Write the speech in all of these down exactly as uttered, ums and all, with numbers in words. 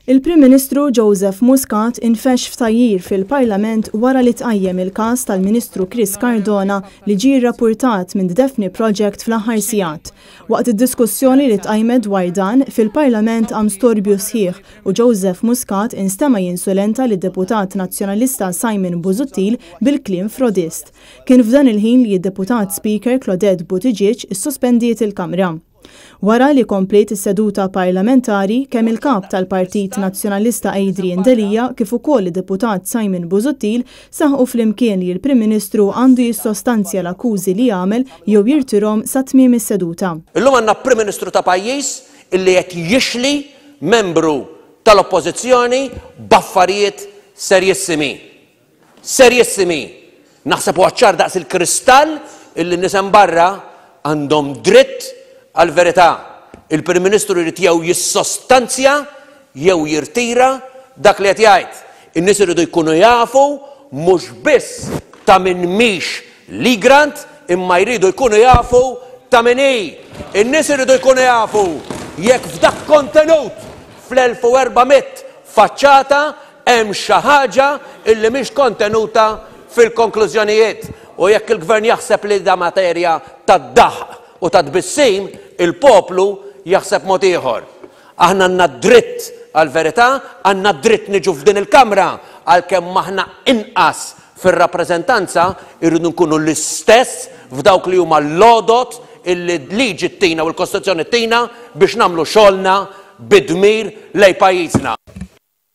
Il-Prim Ministru Joseph Muscat infexx f'tgħajjir fil-Parlament wara li tqajjem il-każ tal-Ministru Chris Cardona li ġie rrappurtat minn The Daphne Project fl-aħħar sigħat. Waqt id-diskussjoni li tqajmet dwar dan, fil-Parlament qam storbju sħiħ u Joseph Muscat instema jinsulenta lid-deputat nazzjonalista Simon Busuttil bil-kliem "frodist". Kien f'dan il-ħin li d-deputat Speaker Claudette Buttigieg issospendiet il-Kamra. Wara li kompliet is-seduta parlamentari, kemm il-kap tal-Partit Nazzjonalista Adrian Delia kif ukoll id-deputat Simon Busuttil saħqu flimkien li l-Prim Ministru għandu jissostanzja l-akkużi li għamel jew jirtirahom sa tmiem is-seduta. Illum għandna Prim Ministru ta' pajjiż illi qed jixli membru tal-Oppożizzjoni b'affarijiet serjissimi. Serjissimi. Naħseb huwa ċar daqs il-kristall illi nies hemm barra għandhom dritt għal-verità. Il-Prim Ministru jrid jew jissostanzja jew jirtira dak li qed jgħid. In-nies iridu jkunu jafu mhux biss ta' min mhix l-Egrant, imma jridu jkunu jafu ta' min hi. In-nies iridu jkunu jafu jekk f'dak kontenut fl-elf u erba' mitt faċċata hemm xi ħaġa illi mhix kontenuta fil-konklużjonijiet. U jekk il-gvern jaħseb li da materja tad-daħq u ta' tbissim, il-poplu jaħseb mod ieħor. Aħna għandna dritt għal-verità, għandna dritt niġu f'din il-Kamra, għalkemm aħna inqas fir-rappreżentanza, irridu nkunu l-istess f'dawk li huma l-lodot illi liġi ttina u l-Kostituzzjoni ttina biex nagħmlu xogħolna bidmir lej pajjiżna.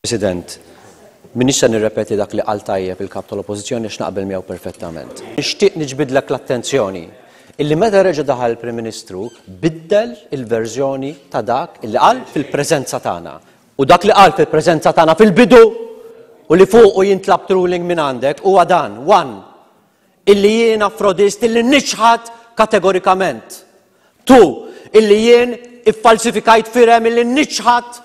President, minix se nirrepeti dak li qal tajjeb il-kap tal-Oppożizzjoni għax naqbel miegħu perfettament. Nixtieq niġbidlek l-attenzjoni illi meta reġa' daħal il-Prim Ministru biddel il-verżjoni ta' dak illi qal fil-preżenza tagħna. U dak li qal fil-preżenza tagħna fil-bidu u li fuqu jintlab ruling minn għandek huwa dan, one, illi jiena frodist illi niċħad kategorikament. Two, illi jien iffalsifikajt firem illi niċħad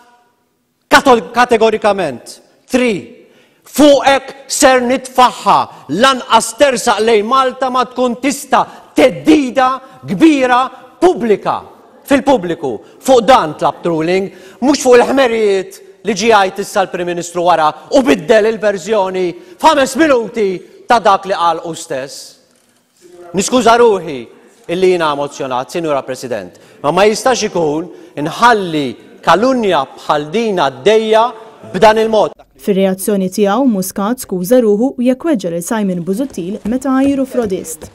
kategorikament. Three, fuqek ser nitfaħħa lanqas tersaq lejn Malta ma tkun tista' teddida kbira pubblika fil-pubbliku. Fuq dan tlab ruling, mhux fuq il-ħmerijiet li ġie jgħid issa l-Prim Ministru wara u biddel il-verżjoni f'ħames minuti ta' dak li qal hu stess. Niskuża ruħi illi jiena emozjonat, Sinjura President, ma ma jistax ikun inħalli kalunja bħal din għaddejja b'dan il-mod. Fir-reazzjoni tiegħu Muscat skuża ruħu jekk weġġa' lil Simon Busuttil meta għajru frodist.